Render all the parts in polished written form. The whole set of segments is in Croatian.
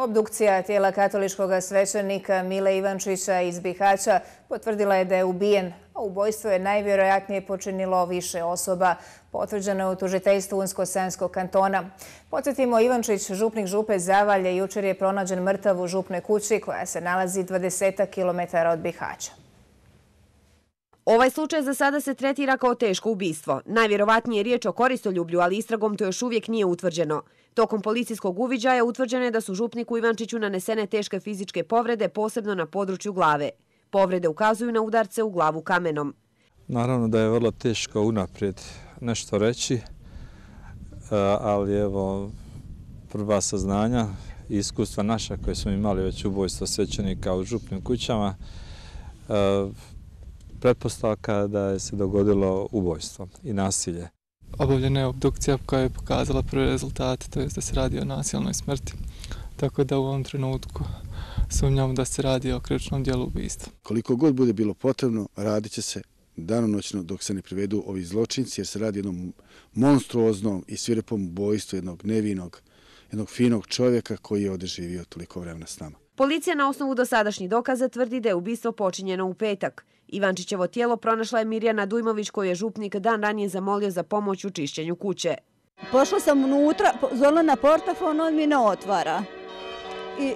Obdukcija tijela katoličkog svećenika Mile Ivančića iz Bihaća potvrdila je da je ubijen, a ubojstvo je najvjerojatnije počinilo više osoba. Potvrđeno je u tužiteljstvu Unsko-Sanskog kantona. Podsjetimo, Ivančić, župnik župe Zavalje, jučer je pronađen mrtav u župnoj kući koja se nalazi 20 km od Bihaća. Ovaj slučaj za sada se tretira kao teško ubistvo. Najvjerovatnije je riječ o koristoljublju, ali istragom to još uvijek nije utvrđeno. Tokom policijskog uviđaja utvrđeno je da su župniku Ivančiću nanesene teške fizičke povrede, posebno na području glave. Povrede ukazuju na udarce u glavu kamenom. Naravno da je vrlo teško unaprijed nešto reći, ali evo prva saznanja i iskustva naša koje smo imali već ubojstvo svećenika u župnim kućama, pretpostavka da je se dogodilo ubojstvo i nasilje. Obavljena je obdukcija koja je pokazala prve rezultate, to je da se radi o nasilnoj smrti, tako da u ovom trenutku sumnjamo da se radi o krivičnom djelu ubistva. Koliko god bude bilo potrebno, radit će se danonoćno dok se ne privedu ovi zločinci, jer se radi o jednom monstruoznom i svirepom ubojstvu jednog nevinog, jednog finog čovjeka koji je ovdje živio toliko vremena s nama. Policija na osnovu dosadašnjih dokaza tvrdi da je ubistvo počinjeno u petak. Ivančićevo tijelo pronašla je Mirjana Dujmović, koju je župnik dan ranije zamolio za pomoć u čišćenju kuće. Pošla sam unutra, zvala na portafon, on mi ne otvara. I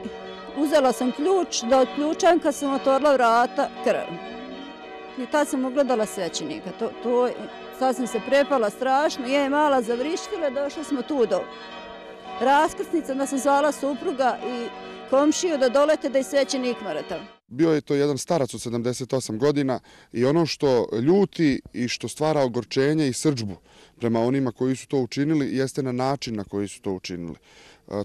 uzela sam ključ da otključam, kad sam otvorila vrata, krv. I tad sam ugledala svećenika. Sad sam se prepala strašno, je mala zavrištila, došli smo tu do raskrsnice, da sam zvala supruga i komšiju da dolete da je svećenik mrtav. Bio je to jedan starac od 78 godina i ono što ljuti i što stvara ogorčenje i srdžbu prema onima koji su to učinili jeste na način na koji su to učinili.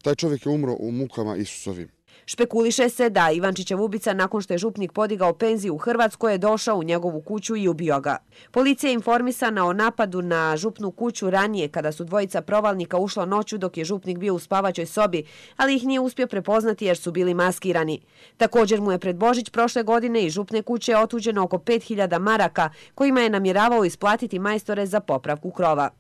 Taj čovjek je umro u mukama Isusovim. Špekuliše se da Ivančićev ubica, nakon što je župnik podigao penziju u Hrvatskoj, je došao u njegovu kuću i ubio ga. Policija je informisana o napadu na župnu kuću ranije, kada su dvojica provalnika ušla noću dok je župnik bio u spavaćoj sobi, ali ih nije uspio prepoznati jer su bili maskirani. Također mu je pred Božić prošle godine iz župne kuće otuđeno oko 5000 maraka, kojima je namjeravao isplatiti majstore za popravku krova.